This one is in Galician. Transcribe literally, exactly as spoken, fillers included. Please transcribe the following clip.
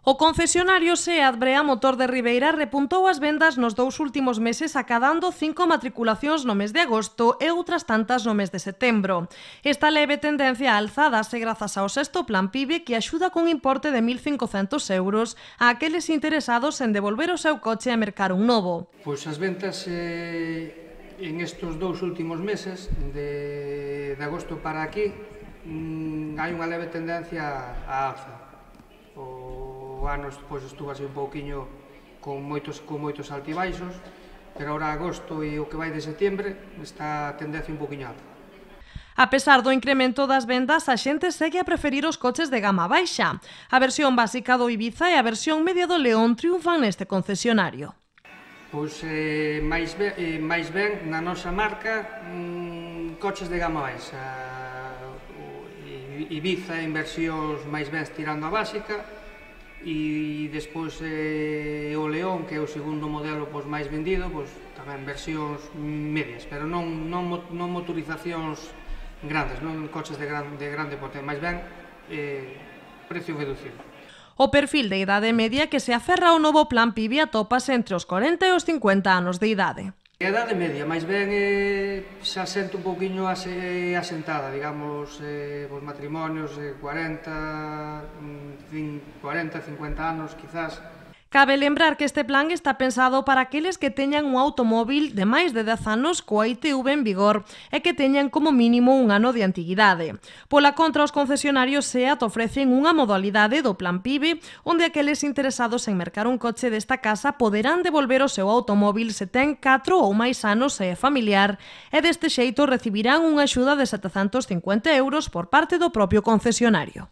O concesionario SEAT Brea Motor de Ribeira repuntou as vendas nos dous últimos meses acadando cinco matriculacións no mes de agosto e outras tantas no mes de setembro. Esta leve tendencia á alza dase grazas ao sexto plan PIBE que axuda cun importe de mil cincocentos euros a aqueles interesados en devolver o seu coche e mercar un novo. Pois as ventas eh, en estes dous últimos meses, de, de agosto para aquí, mmm, hai unha leve tendencia á alza. O ano pois, estuvo así un pouquiño con moitos, con moitos altibaixos, pero ahora agosto e o que vai de setembro está a tendencia un pouquiño alta. A pesar do incremento das vendas, a xente segue a preferir os coches de gama baixa. A versión básica do Ibiza e a versión media do León triunfan neste concesionario. Pois eh, máis, ben, eh, máis ben na nosa marca mmm, coches de gama baixa. O Ibiza en versións máis ben tirando a básica, e despois eh, o León, que é o segundo modelo pois, máis vendido, pois, tamén versións medias, pero non, non, non motorizacións grandes, non coches de, gran, de grande porte, máis ben eh, precio reducido. O perfil de idade media que se aferra ao novo plan PIBE atópase entre os corenta e os cincuenta anos de idade. A idade media, máis ben, eh, xa sente un pouquiño ase, asentada, digamos, eh, os matrimonios, eh, cuarenta, cincuenta anos, quizás. Cabe lembrar que este plan está pensado para aqueles que teñan un automóvil de máis de dez anos coa I T V en vigor e que teñan como mínimo un ano de antiguidade. Pola contra, os concesionarios SEAT ofrecen unha modalidade do plan PIBE onde aqueles interesados en mercar un coche desta casa poderán devolver o seu automóvil se ten catro ou máis anos e é familiar e deste xeito recibirán unha axuda de setecentos cincuenta euros por parte do propio concesionario.